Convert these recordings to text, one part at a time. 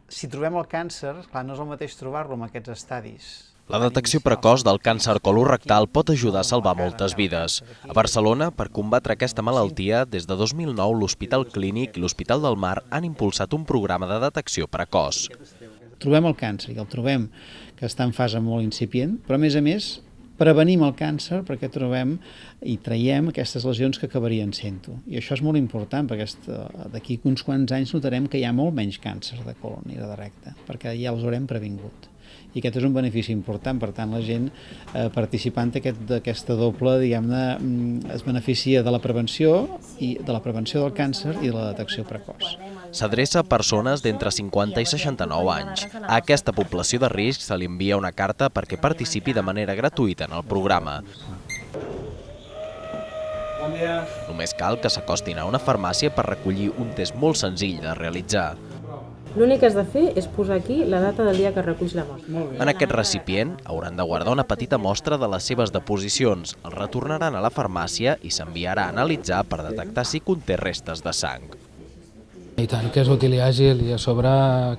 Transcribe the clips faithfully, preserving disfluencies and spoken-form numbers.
si trobem el càncer, clar, no és el mateix trobar-lo en aquests estadis. La detecció precoç del càncer colorectal pot ajudar a salvar moltes vides. A Barcelona, per combatre aquesta malaltia, des de dos mil nou l'Hospital Clínic i l'Hospital del Mar han impulsat un programa de detecció precoç. Trobem el càncer i el trobem que està en fase molt incipient, però a més a més prevenim el càncer perquè trobem i traiem aquestes lesions que acabarien sent-ho. I això és molt important perquè d'aquí uns quants anys notarem que hi ha molt menys càncer de colon i de recte, perquè ja els haurem previngut. I aquest és un benefici important, per tant la gent eh, participant d'aquesta doble, diguem-ne, es beneficia de la prevenció i de la prevenció del càncer i de la detecció precoç. S'adreça a persones d'entre cinquanta i seixanta-nou anys. A aquesta població de risc se li envia una carta perquè participi de manera gratuïta en el programa. Bon dia. Només cal que s'acostin a una farmàcia per recollir un test molt senzill de realitzar. L'únic que has de fer és posar aquí la data del dia que reculls la mostra. En aquest recipient hauran de guardar una petita mostra de les seves deposicions. El retornaran a la farmàcia i s'enviarà a analitzar per detectar si conté restes de sang. I tant, que és útil i àgil i a sobre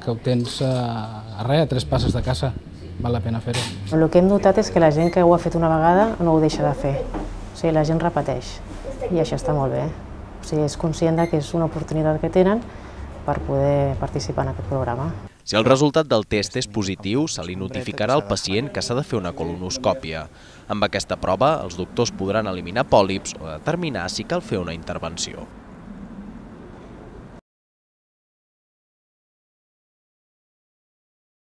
que ho tens a res, a tres passes de casa. Val la pena fer-ho. El que hem notat és que la gent que ho ha fet una vegada no ho deixa de fer. O sigui, la gent repeteix i això està molt bé. O sigui, és conscient que és una oportunitat que tenen per poder participar en aquest programa. Si el resultat del test és positiu, se li notificarà al pacient que s'ha de fer una colonoscòpia. Amb aquesta prova, els doctors podran eliminar pòlips o determinar si cal fer una intervenció.